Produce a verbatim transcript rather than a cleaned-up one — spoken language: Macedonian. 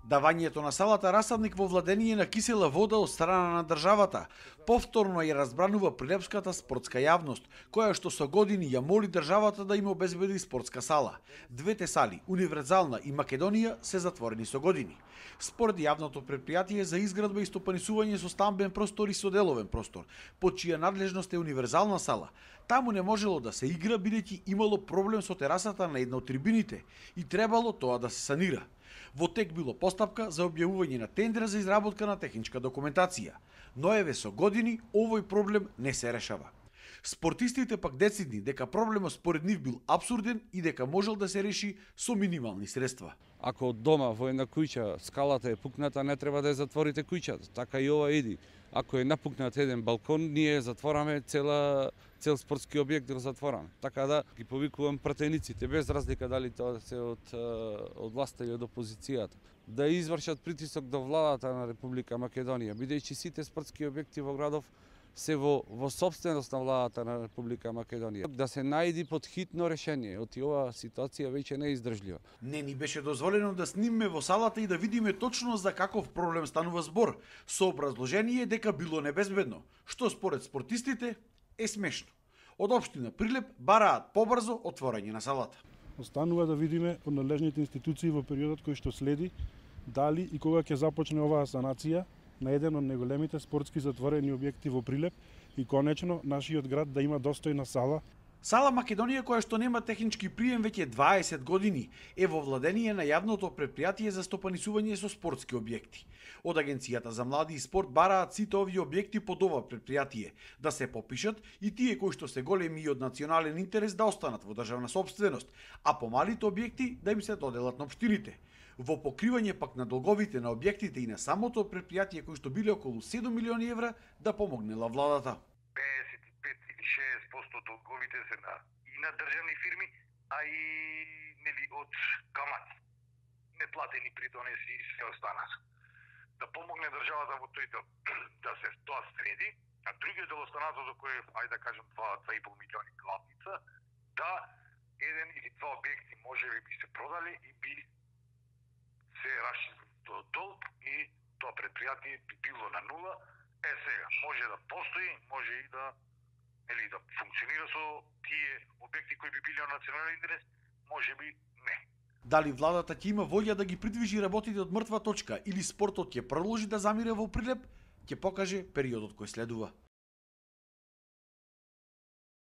Давањето на салата расадник во владение на кисела вода од страна на државата повторно ја разбранува прилепската спортска јавност, која што со години ја моли државата да им обезбеди спортска сала. Двете сали, Универзална и Македонија, се затворени со години. Според јавното предпријатие за изградба и стопанисување со стамбен простор и со деловен простор, под чија надлежност е Универзална сала, таму не можело да се игра бидејќи имало проблем со терасата на една од трибините и требало тоа да се санира. Во тек било постапка за објавување на тендер за изработка на техничка документација, но еве со години овој проблем не се решава. Спортистите пак децидни дека проблемот според нив бил апсурден и дека можел да се реши со минимални средства. Ако од дома во една куќа скалата е пукната, не треба да ја затворите куќата, така и ова иди. Ако е напукнат еден балкон, ние затвораме цела цел спортски објект да го затвораме. Така да ги повикувам пратениците, без разлика дали тоа се од од власта или од опозицијата, да извршат притисок до владата на Република Македонија, бидејќи сите спортски објекти во градов се во, во собственост на владата на Република Македонија. Да се најди под хитно решение, оти ова ситуација веќе не е издржлива. Не ни беше дозволено да снимме во салата и да видиме точно за каков проблем станува збор, со образложение дека било небезбедно, што според спортистите е смешно. Од општина Прилеп бараат побрзо отворање на салата. Останува да видиме од надлежните институции во периодот кој што следи дали и кога ќе започне оваа санација на еден од најголемите спортски затворени објекти во Прилеп и конечно нашиот град да има достојна сала. Сала Македонија, која што нема технички прием веќе дваесет години, е во владение на јавното предпријатие за стопанисување со спортски објекти. Од Агенцијата за млади и спорт бараат сите овие објекти под ова предпријатие да се попишат и тие кои што се големи и од национален интерес да останат во државна собственост, а помалите објекти да им се доделат на општините. Во покривање пак на долговите на објектите и на самото предпријатие кои што биле околу седум милиони евра да помогнела владата. педесет и пет или шеесет проценти долговите се на и на државни фирми, а и нели од камати. Неплатени придонеси и се останат. Да помогне државата во тој дел да се тоа среди, а другиот дел останатото кој е, ајде да кажем, два и пол милиони главница, да еден или два објекти можеби би се продали и би се расчистил долг и тоа предпријатие би било на нула. Е сега, може да постои, може и да или да функционира со тие објекти кои би били од национален интерес, може би не. Дали владата ќе има волја да ги придвижи работите од мртва точка или спортот ќе продолжи да замира во Прилеп, ќе покаже периодот кој следува.